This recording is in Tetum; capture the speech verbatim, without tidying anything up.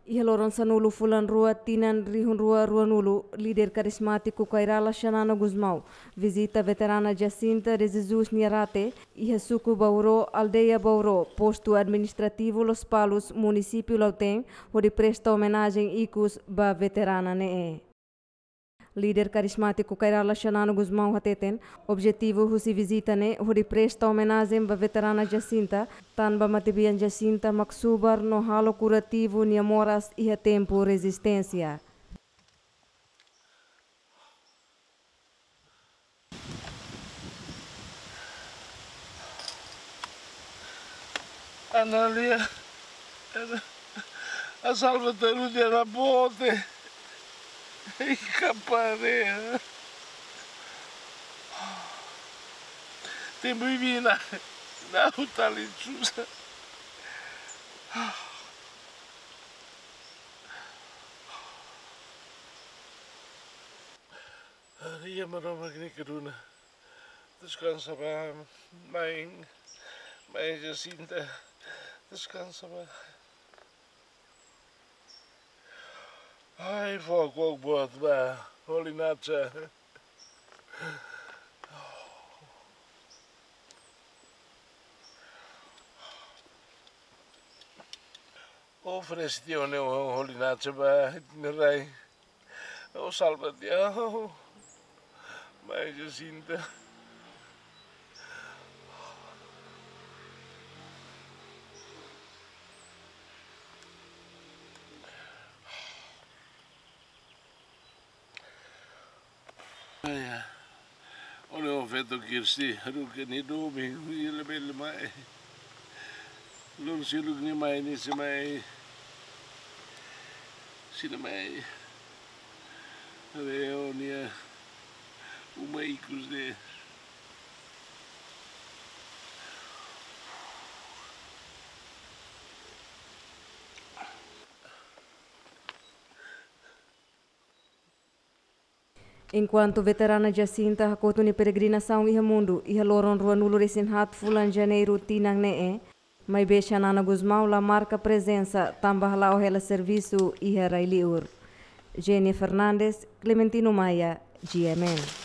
Iha loron sanulu fulan rua tinan rihun rua ruanulu, líder karismátiku Kay Rala Xanana Gusmão vizita veterana Jacinta de Jesus nia rate iha suku Bauro, aldeia Bauro, postu administrativu Lospalos, munisípiu Lautém, hodi presta omenajen ikus ba veterana ne'e. Líder karismátiku Kay Rala Xanana Gusmão hateten, objetivu husi vizita ne'e hodi presta omenajen ba veterana Jacinta, tanba matebian Jacinta mak subar no halo kurativu nia moras iha tempu rezisténsia. Analia, a salva tarude na bote. Iha parea. Tempu imi na, na utali susa. Maromak nia keduna. Deskansa ba, mãe, mãe Jacinta. Deskansa ba. Ai, fó kuak boot ba, Holy Nature. Oferese tiha ona, Holy Nature ba, ita-nia rai. Ó salva tiha, mãe Jacinta. Ai, ai. Ó-nia oan feto Kirsti, haruka nia doben, nia labele mai. Loron seluk nia mai, nia sei mai. Sei la mai. Haree ó-nia uma ikus de'it. Enkuantu veterana Jacinta hakotu nia peregrinasaun iha mundu, iha loron ruanulu resin haat fulan Janeiru tinan ne'e, maibé Xanana Gusmão la marka prezensa tanba hala'o hela servisu iha rai-li'ur. Jenny Fernandes, Clementino Maia, G M N.